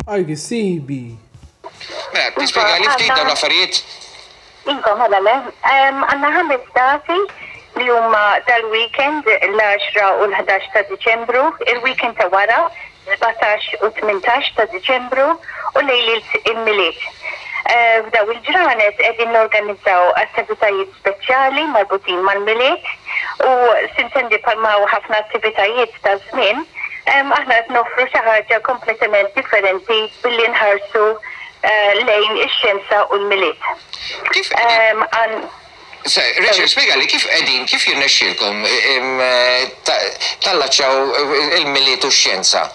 I can see he be. Mela, tispjegali Iva, ftit dawn għandna l-affarijiet? Iva, mela le. Għandna ħames dati li huma dal-weekend, l-10 u l-11 ta' Diċembru, il-weekend ta' wara, 17 u 18 ta' Diċembru u lejliet il-Milied. F'daw il-ġranet qegħdin norganizzaw attivitajiet speċjali marbutin mal-Milied u sintendi bħalma hawn ħafna attivitajiet ta' żmien, Aħna qed noffru xi ħaġa kompletament differenti billi nħarsu lejn ix-xjenza u l-Milied. Kif qegħdin, Rachel, spjegali kif qegħdin, kif jirnexxielkom tallaċċjaw il-Milied u x-xjenza?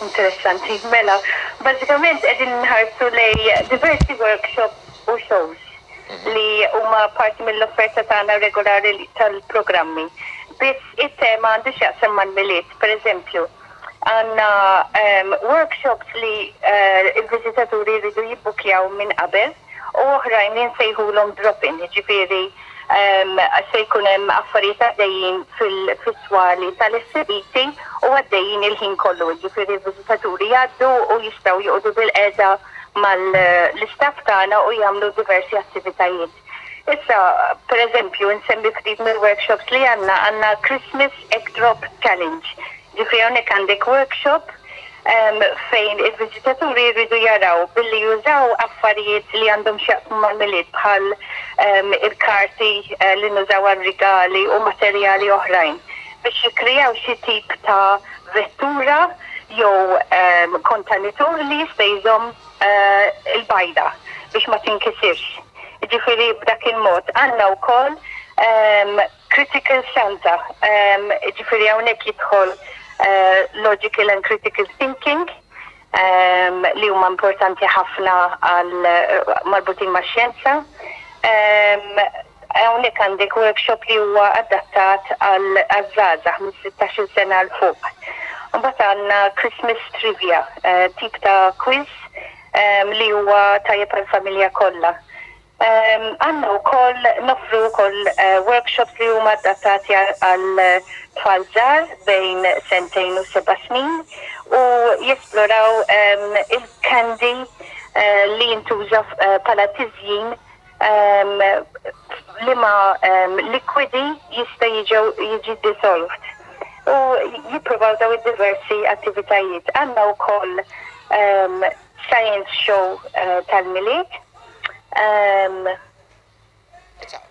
Interessanti. Mela, bażikament qegħdin nħarsu lejn diversi workshops u shows li huma parti mill-offerta tagħna regolari tal-programmi. Biss it-tema għandu x'jaqsam mal-Milied. Per eżempju, għandna workshops li l-viżitaturi jridu jibbukjaw minn qabel u oħrajn li nsejħulhom drop-in, jiġifieri se jkun hemm affarijiet għaddejjin fis-swali tal-esebiti u għaddejjin il-ħin kollu, jiġifieri l-viżitaturi jgħaddu u jistgħu joqogħdu bilqiegħda mal-istaff tagħna u jagħmlu diversi attivitajiet. Issa, per eżempju, nsemmi ftit mill-workshops li għandna, għandna Christmas Egg Drop Challenge. Ġifieri hawnhekk għandek workshop fejn il-viżitaturi jridu jaraw billi jużaw affarijiet li għandhom x'jaqsmu mal-Milied bħal il-karti li nużaw għar-rigali u materjali oħrajn biex jikkreaw xi tip ta' vettura jew kontenitur li jista' jżomm il-bajda biex ma tinkisirx. Jiġifieri b'dak il-mod għandna wkoll Critical Santa, jiġifieri hawnhekk jidħol logical and critical thinking li huma importanti ħafna għal marbutin max-xjenza. Hawnhekk għandek workshop li huwa adattat għaż-żgħażagħ minn 16-il sena 'l fuq. Imbagħad għandna Christmas Trivia, tip ta' quiz li huwa tajjeb għall-familja kollha. Għandna wkoll noffru wkoll workshops li huma adattati għal tfal żgħar bejn sentejn u seba' snin u jesploraw il-candy li jintuża bħala tiżjin liema likwidi jista' jiġi dissolved u jippruvaw daw id-diversi attivitajiet. Għandna wkoll science show tal-Milied.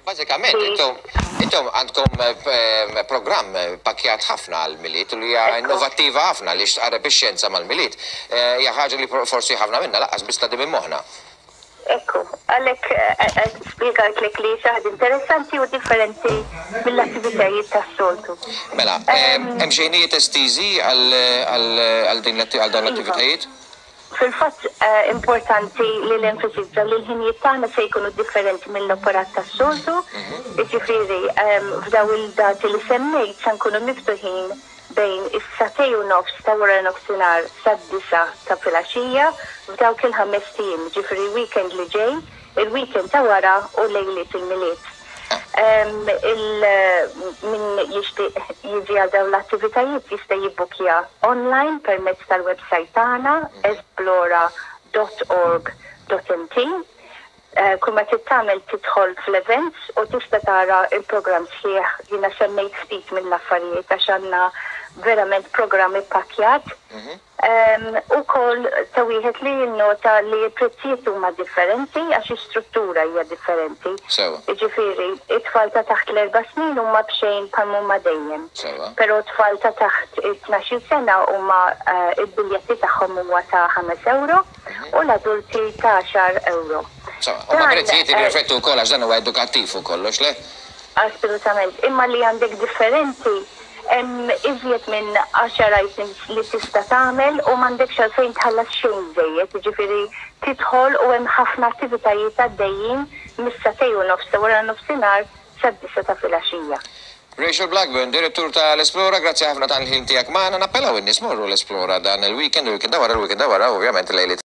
Bażikament intom intom għandkom programm pakkjat ħafna għall-Milied u li hija innovattiva ħafna għaliex tqarreb ix-xjenza mal-Milied. Hija ħaġa li forsi ħafna minna lanqas biss tgħaddi minn moħħna. Ekku, għalhekk spjegajtlek li xi ħaġa interessanti u differenti mill-attivitajiet tas-soltu. Mela, hemm xi ħinijiet estiżi għal din għal dawn l-attivitajiet? Fil-fatt importanti li nenfasizza li l-ħinijiet tagħna se jkunu differenti mill-operat tas-soltu, jiġifieri f'dawn il-dati li semmejt se nkunu miftuħin bejn is-sagħtej u nofs ta' waranofsinhar sad-disgħa ta' filgħaxija f'dawk il-ħamest ijiem, jiġifieri l-weekend li ġej, il-weekend ta' wara u lejliet il-Milied. Il min jixtieq jiġi għal dawn l-attivitajiet jista' jibbukkja online permezz tal-websajt tagħna esplora dot org dot mt. Kull ma trid tagħmel tidħol fl-events u tista' tara l-programm sħiħ. Jiena semmejt ftit mill-affarijiet għax għandna verament programm ippakkjat. Ukoll ta' wieħed li jinnota li l-prezzijiet huma differenti għax is-struttura hija differenti. Jiġifieri, it-tfal ta' taħt l-erba' snin huma b'xejn bħal m'huma dejjem. Però t-tfal ta' taħt it-tnax-il sena huma l-biljetti tagħhom huwa ta' ħames ewro. u l-adulti ta' għaxar ewro. Insomma, huma prezzijiet li jirriflettu wkoll għax dan huwa edukattiv fuq kollox, le? Assolutament. Imma li għandek differenti, hemm iżjed minn għaxar items li tista' tagħmel u m'għandekx għalfejn tħallas xejn żejjed, jiġifieri tidħol u hemm ħafna attivitajiet għaddejjin mis-sagħtej u nofs ta' waranofsinhar sad-disgħa ta' filgħaxija. Rachel Blackburn, Direttur ta' l-Esplora, grazzi ħafna tal-ħin tiegħek magħna. Nappellaw in-nies morru l-Esplora dan il-weekend, il-weekend ta' wara, il-weekend ta' wara, ovvjament lejliet.